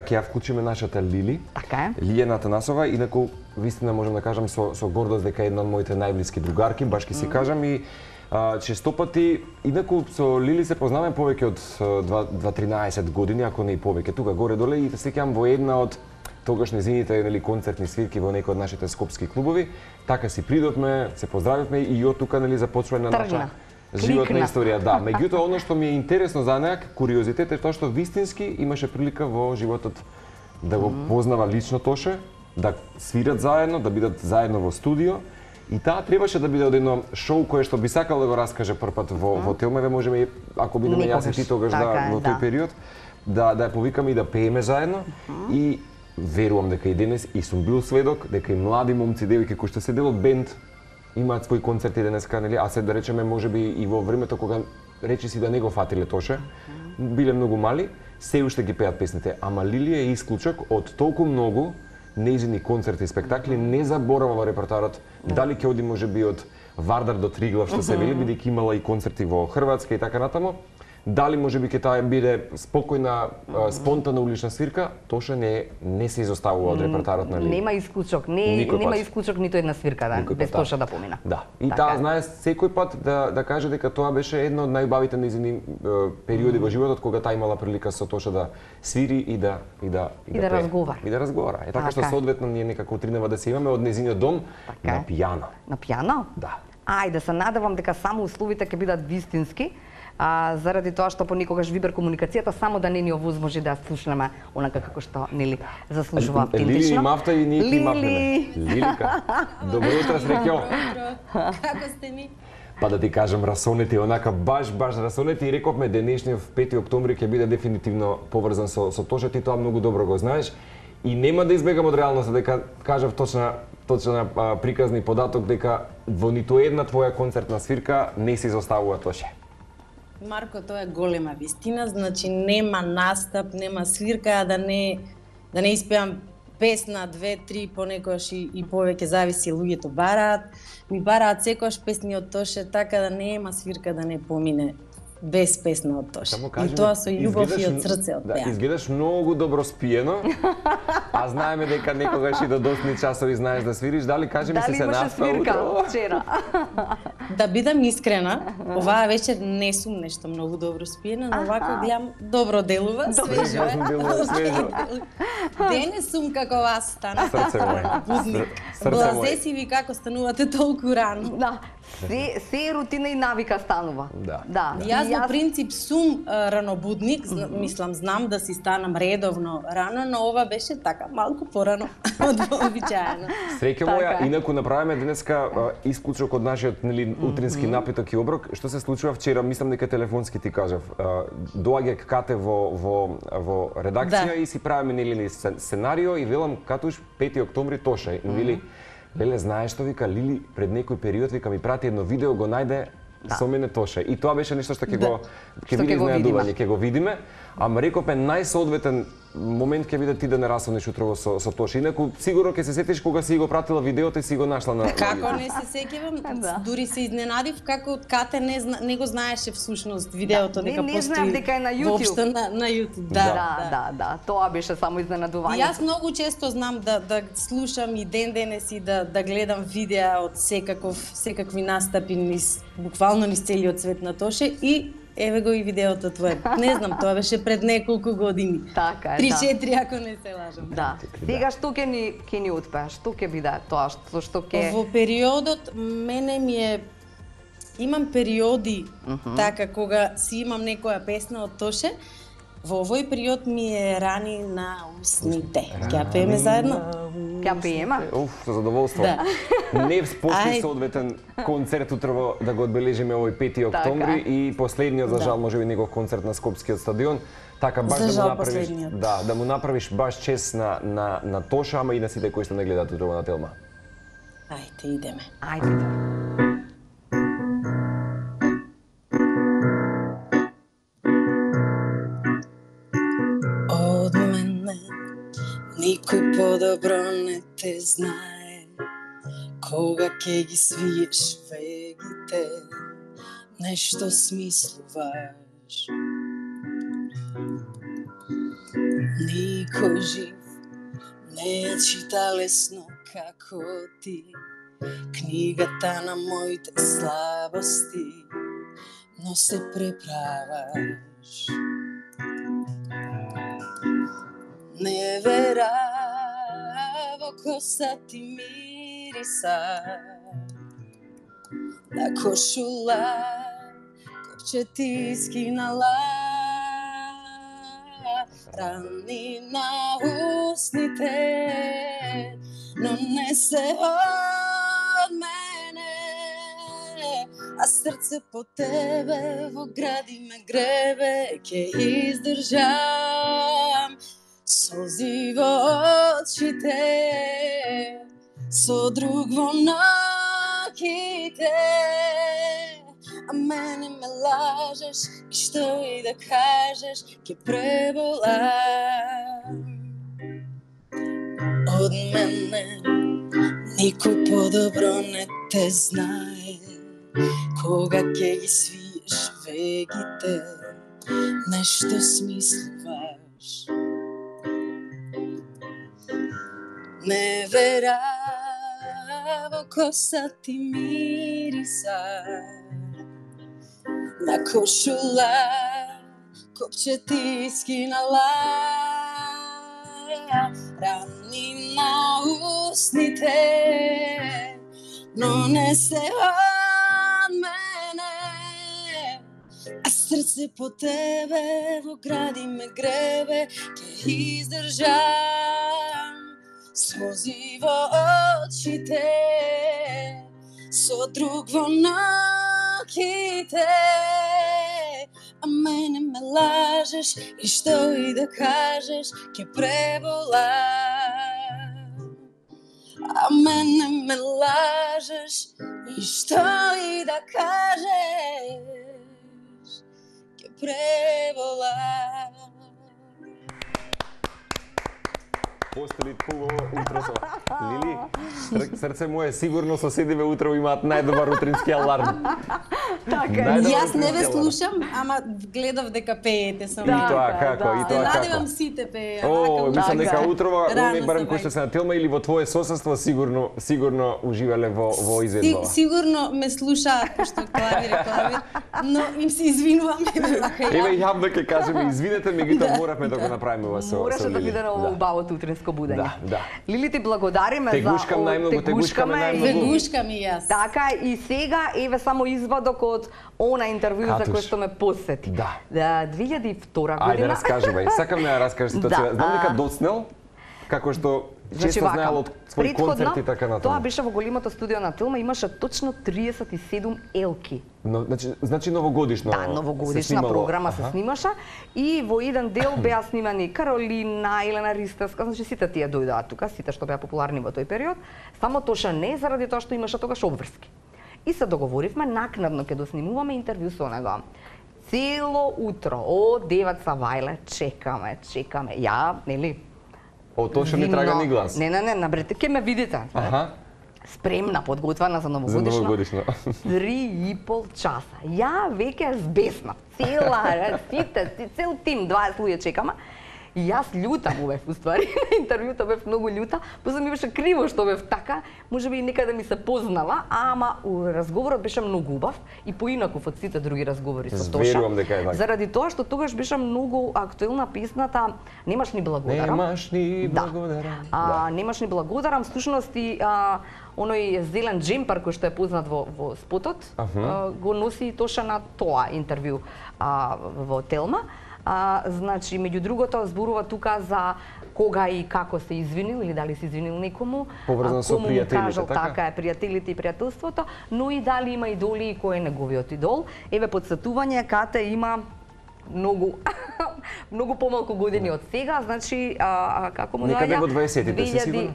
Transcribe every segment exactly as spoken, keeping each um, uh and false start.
ќе ја вклучиме нашата Лили. Така е. Лилија Атанасова, инаку вистина можам да кажам со со гордост дека е една од моите најблиски другарки, баш ќе си кажам и а, често пати инаку со Лили се познаваме повеќе од два-тринаесет години, ако не и повеќе. Тука горе доле и се сеќавам во една од тогаш незините нели концертни свирки во некои од нашите скопски клубови, така си придовме, се поздравивме и од тука нели започва на наша животна историја, да. Меѓутоа, оно што ми е интересно за неа, куриозитет е тоа што вистински имаше прилика во животот да го познава лично Тоше, да свират заедно, да бидат заедно во студио. И таа требаше да биде од едно шоу кое што би сакал да го раскаже првпат во во Телмеве, можеме ако бидеме јас и ти тогаш да во тој период да да ја повикаме и да пееме заедно. И верувам дека и денес и сум бил сведок дека и млади момци, девојки кои што се дел од бенд имаат свои концерти денеска, нели? А се да речеме можеби и во времето кога речи си да не го фатиле Тоше, биле многу мали, се уште ги пеат песните, ама Лилија е исклучок од толку многу нејзини концерти и спектакли, не заборава во репертоарот. Дали ќе оди можеби од Вардар до Триглав, што се вели, бидејќи имала и концерти во Хрватска и така натаму. Дали можеби ќе таа биде спокојна, спонтана улична свирка, Тоше не не се изоставува од репертоарот на Лили. Нема исклучок, не нема исклучок ниту една свирка да без Тоше да помина. Да. И таа знае секој пат да да каже дека тоа беше едно од најубавите нејзини периоди во животот кога таа имала прилика со Тоше да свири и да и да и да разговара. И да разговара. Е така што соодветно ние некако тргнува да се имаме од нејзиниот дом на пијано. На пијано? Да. Ајде, се надевам дека само условите ќе бидат вистински. А, заради тоа што понекогаш вибер комуникацијата само да не ни овозможи да слушнеме онака како што нели заслужува автентично. Лили и Мафта и ние ти мафнеме. Лилика. Добро утро, среќо. Како сте ми? Па да ти кажам, расонети онака баш баш расонети и рековме денешниот пети октомври ќе биде дефинитивно поврзан со со Тоше, ти тоа многу добро го знаеш и нема да избегам од реалноста дека кажав точна точна а, приказни податок дека во ниту една твоја концертна свирка не се изоставува Тоше. Марко, тоа е голема вистина, значи нема настап, нема свирка, да не да не испеам песна, две, три, понекогаш и, и повеќе зависи, луѓето бараат. Ми бараат секојаш песни од Тоше, така да нема свирка да не помине без песна од Тоше. И тоа со љубов и од срце од да, пеа. Изгледаш многу добро спиено, а знаеме дека некогаш и до досни часови знаеш да свириш. Дали кажи ми се се наспа утро? Вчера? Да бидам искрена, оваа вечер не сум нешто многу добро спиена, но овако гледам добро делува, свежо е. Денес сум како вас стана. Срце моје. Будник. Блазесиви како станувате толку рано. Да. Се се рутина и навика станува. Да. Да. Јас во принцип сум а, ранобудник, зна, мислам знам да си станам редовно рано, но ова беше така малку порано од вообичаено. Среќа моја, инаку направиме денеска исклучок од нашиот нели утрински напиток и оброк. Што се случува вчера, мислам дека телефонски ти кажав. Доаѓа Кате во во во редакција и си правиме нели сценарио и велам Катуш пети октомври Тоше. И вели Леле, знаеш што вика Лили пред некој период вика ми прати едно видео, го најде со мене Тоше. И тоа беше нешто што ќе го ќе биде изненадување, ќе го видиме. Ама рековме најсоодветен момент ќе биде ти да не расонеш утрово со со Тоше. Инаку сигурно ќе се сетиш кога си го пратила видеото и си го нашла на. Како не се сеќавам, дури се изненадив како Кате не зна, не го знаеше всушност видеото дека постои. Не знаев дека е на YouTube. Воопшто на на YouTube. Да, да, да, да. Тоа беше само изненадување. Јас многу често знам да да слушам и ден денес и да да гледам видеа од секаков секакви настапи низ буквално низ целиот свет на Тоше и еве го и видеото твое. Не знам, тоа беше пред неколку години. Така е, три-четири ако не се лажам. Да. Сега што ќе ни ќе ни утпеа? Што ќе биде тоа што што ќе Во периодот мене ми е имам периоди uh -huh. така кога си имам некоја песна од Тоше. Во овој период ми е рани на усните. Ќе ја пееме заедно? Ќе ја пееме? Уф, со задоволство. Да. Не постои соодветен концерт утрово да го одбележиме овој пети октомври и последниот за жал можеби негов концерт на Скопскиот стадион. Така баш да му направиш, да, да му направиш баш чест на на на Тоша, ама и на сите кои што не гледаат утрово на Телма. Ајде идеме. Ајде идеме. Никој подобро не те знае, кога ќе ги свиеш вегите, нешто смислуваш. Никој жив не ја чита лесно како ти, книгата на моите слабости, но се преправаш. Не вера во коса ти мириса, на кошула копче ти скинала, рани на устните, но не се од мене, а срце по тебе во гради ме гребе, ќе издржам солзи во очите, со друг во ноќите, а мене ме лажеш и што и да кажеш ќе преболам. Од мене никој подобро не те знае, кога ќе ги свиеш вегите, нешто смислуваш. Не вера во коса ти мириса, на кошула копче ти скинала, рани на устните, но не се од мене, а срце по тебе во гради ме гребе, ќе издржам слози во очите, со друг во ноќите, а мене ме лажеш и што и да кажеш ќе преболам. А мене ме лажеш и што и да кажеш ќе преболам. Постели хубаво утро со Лили. Срце мое сигурно соседиве утро имаат најдобар утрински аларм. Така, јас не ве слушам, ама гледав дека пеете со И мене. тоа како, и тоа Надевам како. сите пее. О, мислам дека утрова, Рано они барем се кои што се на Телма или во твое сосудство сигурно сигурно уживале во во изведбава. Сигурно ме слушаат пошто клавир е клавир, но им се извинувам. Еве јам да ќе кажеме извинете, меѓутоа моравме да го направиме ова со Мораше со да Лили. биде на ово убавото утринско будење. Да, да. Лили, ти благодариме за Тегушкам најмногу, тегушкаме најмногу. Вегушкам и јас. Така, и сега еве само извадок од она интервју за Катуш. кој што ме посети. Да. две илјади и втора Ајде година. раскажувај, сакам да ја раскажеш ситуација. Да, Знам дека а- доцнел, како што Значи често вака, знаел од своји концерти и така тоа натаму. беше во големото студио на Телма, имаше точно триесет и седум елки. Но, значи, значи новогодишно Да, се новогодишна снимало. програма се Аха. снимаша и во еден дел беа снимани Каролина, Елена Ристевска, значи сите тие дојдоа тука, сите што беа популарни во тој период, само Тоша не заради тоа што имаше тогаш обврски. И се договоривме накнадно ќе доснимуваме интервју со него. Цело утро од девет са вајле чекаме, чекаме. Ја, нели, О, Тоша не трага ни глас. Не, не, не, набрете, ќе ме видите. Аха. Спремна, подготвена за За новогодишно. новогодишно. Три и пол часа. Ја веќе збесна. Цела, сите, цел тим, дваесет луѓе чекама. И јас љута му бев, уствари, на интервјуто бев многу љута, после ми беше криво што бев така, можеби и некаде ми се познала, ама у разговорот беше многу убав и поинаков од сите други разговори со Тоша. Зверувам дека е така. Заради тоа што тогаш беше многу актуелна песната Немаш ни благодарам. Немаш ни Да. благодарам. А, немаш ни благодарам, всушност и а, оној зелен джемпер кој што е познат во, во спотот, а, го носи Тоша на тоа интервју а, во Телма. А, значи, меѓу другото, зборува тука за кога и како се извинил или дали се извинил некому, Поврзано со кому му пријателите, кажал, така? така е, пријателите и пријателството, но и дали има идоли и кој е неговиот идол. Еве подсетување, Кате има многу многу помалку години од сега, значи а, а како му Некаде доаѓа? во дваесетите си сигурно?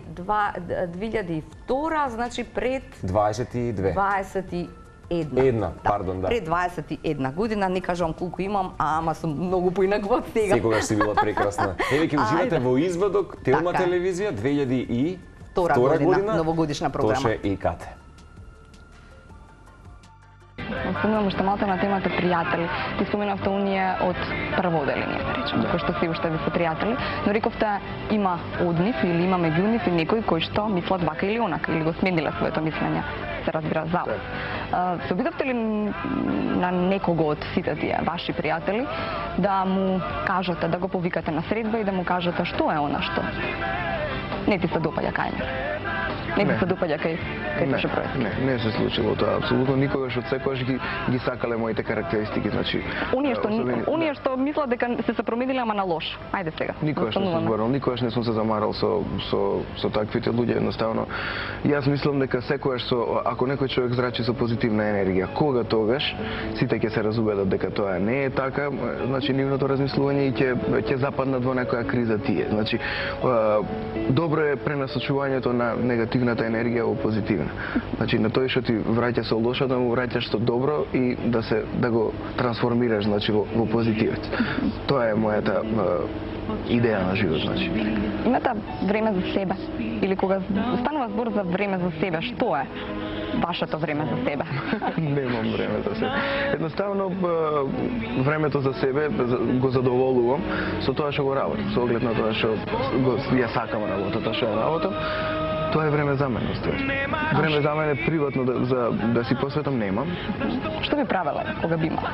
две илјади и втора, значи пред дваесет и две. дваесет и една. Една, пардон, да. Пред дваесет и една година, не кажам колку имам, ама сум многу поинаква од сега. Секогаш си била прекрасна. Еве ќе уживате Ајде. во извадок Телма Така е. телевизија две илјади и Втора година, новогодишна програма. Тоше и Кате. спомнувам уште малку на темата пријатели. Ти споменавте оние од прво оделение, да речеме, кои што си уште ви се пријатели, но рековте има од нив или има меѓу нив и некои кои што мислат вака или онака, или го смениле своето мислење, се разбира за вас. Се обидовте ли на некого од сите тие ваши пријатели да му кажете, да го повикате на средба и да му кажете што е она што не ти се допаѓа кај него? Не ти се допаѓа кај кај Тоше Проецки? Не, не се случило тоа. Апсолутно никогаш од секогаш ги ги сакале моите карактеристики, значи оние што оние што мислат дека се се промениле ама на лош. Ајде сега. Никогаш не сум зборал, никогаш не сум се замарал со со со таквите луѓе, едноставно. Јас мислам дека секогаш со ако некој човек зрачи со позитивна енергија, кога тогаш сите ќе се разубедат дека тоа не е така, значи нивното размислување и ќе ќе западнат во некоја криза тие. Значи добро е пренасочувањето на негативната енергија во позитивна. Значи на тој што ти враќа со лошо да му враќаш со добро и да се да го трансформираш значи во, во позитивец. Тоа е мојата идеја на живот, значи. Имате време за себе или кога станува збор за време за себе, што е вашето време за себе? Немам време за себе. Едноставно времето за себе го задоволувам со тоа што го работам, со оглед на тоа што го ја сакам работата што ја работам. Тоа е време за мене, ствари. Време за мене приватно да, за да си посветам немам. Што би правела кога би имала?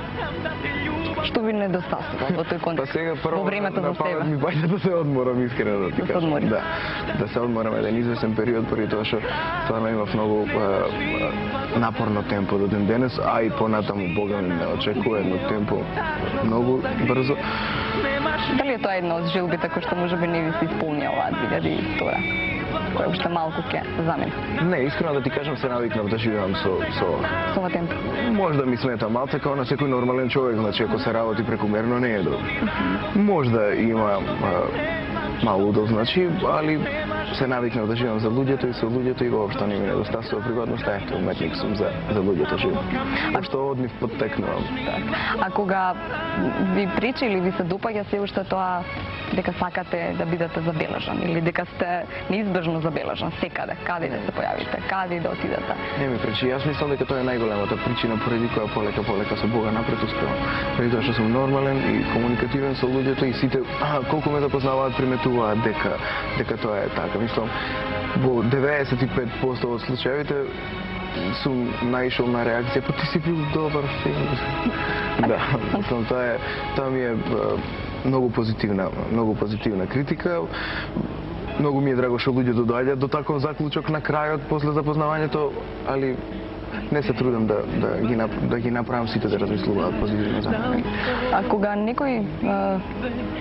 Што ви недостасува во тој контекст? Па сега прво во времето на, за себе. Ми бајде да се одморам, искрено да ти кажам. Да, да, да се одморам еден извесен период поради тоа што стварно имав многу а, а, напорно темпо до ден денес, а и понатаму Бога ми ме очекува едно темпо многу брзо. Дали е тоа една од желбите кои што можеби не ви се исполнија оваа две илјади и втора? Која уште малку ќе замени? Не, искрено да ти кажам, се навикнав да живеам со со со ова темпо. Можда ми смета малце као на секој нормален човек, значи ако се работи прекумерно не е добро. Можда има а, мало удов, значи, али се навикнав да живеам за луѓето и со луѓето и воопшто не ми недостасува приватноста, ето уметник сум за за луѓето живеам. А што од нив поттекнувам. А кога ви прича или ви се допаѓа се уште тоа дека сакате да бидете забележан или дека сте неизбежно забележан секаде, каде да се појавите, каде да отидете? Не ми пречи, јас мислам дека тоа е најголемата причина поради која полека полека со Бога напред успевам. Преди тоа што сум нормален и комуникативен со луѓето и сите а, колку ме запознаваат приметуваат дека дека тоа е така. Мислам во деветдесет и пет проценти од случаевите сум наишол на реакција, па ти си бил добар филм. Да, мислам тоа е тоа ми е многу позитивна, многу позитивна критика. Многу ми е драго што луѓето доаѓаат до таков заклучок на крајот после запознавањето, али не се трудам да да ги да ги направам сите да размислуваат позитивно за мене. А кога некој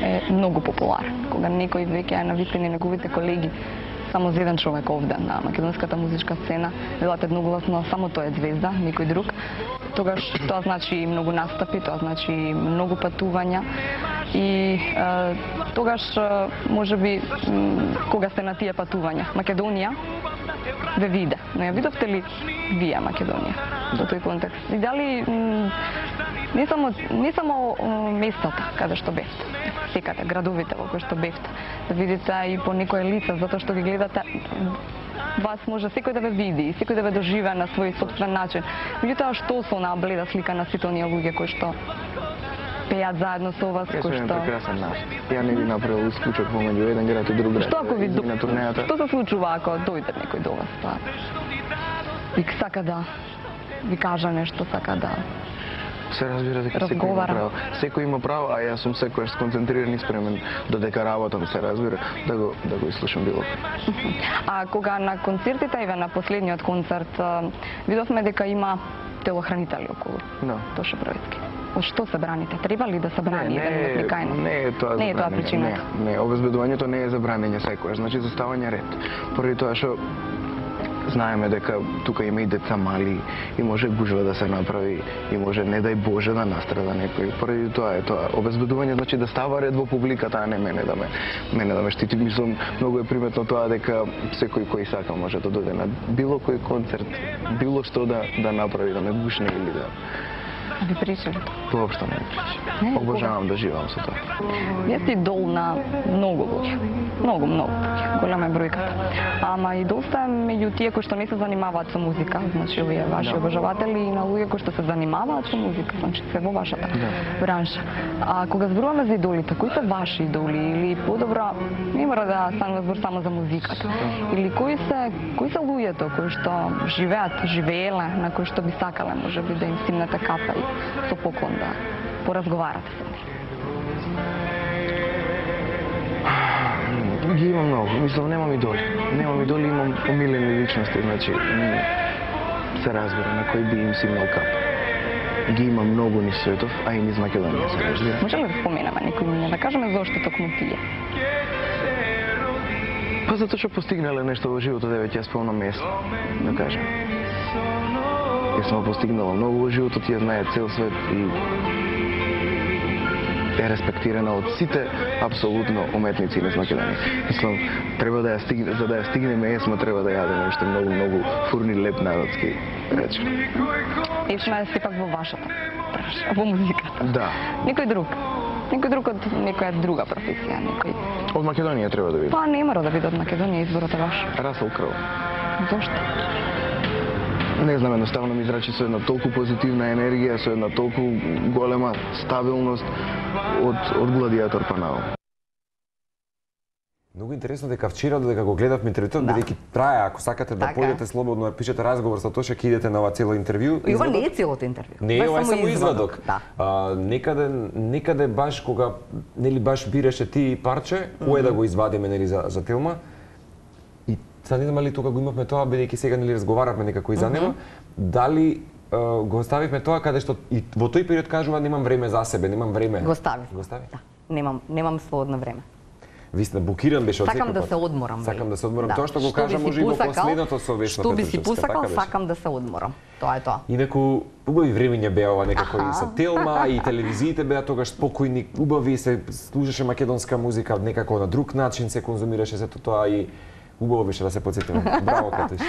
е многу популарен, кога некој веќе е навистини неговите колеги, само за еден човек овде на македонската музичка сцена, велат едногласно само тој е звезда, никој друг, тогаш тоа значи многу настапи, тоа значи многу патувања и е, тогаш можеби кога сте на тие патувања, Македонија ве виде, но ја видовте ли вие Македонија во тој контекст? И дали не само не само местата каде што бевте, секаде градовите во кои што бевте, да видите и по некое лице, затоа што ги гледате, вас може секој да ве види, секој да ве доживее на свој сопствен начин. Меѓутоа што со онаа бледа слика на сите оние луѓе кои што пеат заедно со вас, кои што... Јас сум прекрасен начин. Ја не би направил исклучок помеѓу еден град и друг град. Што ако ви до... на турнејата? Што се случува ако дојде некој до вас, па? И сака да ви кажа нешто, сака да... Се разбира дека секој има право. Секој има право, а јас сум секојаш сконцентриран и спремен додека работам, се разбира, да го да го изслушам било. А кога на концертите, еве на последниот концерт, видовме дека има телохранители околу. Да. Тоше Проецки. Од што се браните? Треба ли да се брани еден уметник кај нас? Не е тоа не е тоа причината. Не, не, обезбедувањето не е за бранење секојаш, значи за ставање ред. Поради тоа што знаеме дека тука има и деца мали и може гужва да се направи и може не дај Боже да настрада некој. Поради тоа е тоа. Обезбедување значи да става ред во публиката, а не мене да ме мене да ме штити. Мислам многу е приметно тоа дека секој кој сака може да дојде на било кој концерт, било што да да направи, да ме гушне или да Ви прича ли тоа? Воопшто не ми прича. Обожавам да живеам со тоа. Вие сте идол на многу луѓе. Многу, многу луѓе. Голема е бројката. Ама и доста меѓу тие кои што не се занимаваат со музика, значи овие ваши Да. обожаватели и на луѓе кои што се занимаваат со музика, значи се во вашата бранша. А кога зборуваме за идолите, кои се ваши идоли или подобро не мора да станува збор само за музиката. Или кои се кои се луѓето кои што живеат, живееле, на кои што би сакале можеби да им стигнете кафе и со поклон да поразговарате со нив? Ги имам многу, мислам немам идоли. Немам идоли, имам помилени личности, значи м, се разбира на кој би им симнал кап. Ги има многу низ светов, а и низ Македонија се разбира. Може ли да споменаме некој име, да кажеме зошто токму тие? Па затоа што постигнале нешто во животот, еве ќе ја спомнам место, да кажем. Јас сум постигнала многу во животот, ја знае цел свет и е респектирана од сите апсолутно уметници низ Македонија. Мислам, треба да ја стигне, за да ја стигнеме есма, треба да јадеме уште многу, многу фурни леп народски речи. Ечна е сепак во вашата бранша, во музиката. Да. Никој друг. Никој друг од некоја друга професија, некој. Од Македонија треба да биде. Па не мора да биде од Македонија, изборот е ваш. Расел Кроу. Зошто? Не знам, едноставно ми зрачи со една толку позитивна енергија, со една толку голема стабилност од, од гладиатор па нао. Многу интересно дека вчера додека го гледавме интервјуто, Да. бидејќи трае, ако сакате да Така е. појдете слободно да пишете разговор со Тоша, ќе идете на ова цело интервју. И ова не е целото интервју. Не, ова е само извадок. Да. А, некаде, некаде баш кога нели баш бираше ти парче, кое да го извадиме нели за за Телма. И сега не знам дали тука го имавме тоа, бидејќи сега нели разговаравме некако и за него, дали а, го оставивме тоа каде што и во тој период кажува немам време за себе, немам време. Го ставив. Го стави? Да. Немам немам слободно време. Вистина, блокиран беше од Сакам секој да пат. се одморам. Сакам да се одморам. Да. Тоа што го Што кажа би си може и во посакал, последното со Весна Што би си Петрушевска, посакал, така беше. сакам да се одморам. Тоа е тоа. Инаку, убави времиња беа ова некако Аха. и со Телма, и телевизиите беа тогаш спокојни, убави, се слушаше македонска музика некако на друг начин, се конзумираше сето тоа и убаво беше да се потсетиме. Браво, Катиш.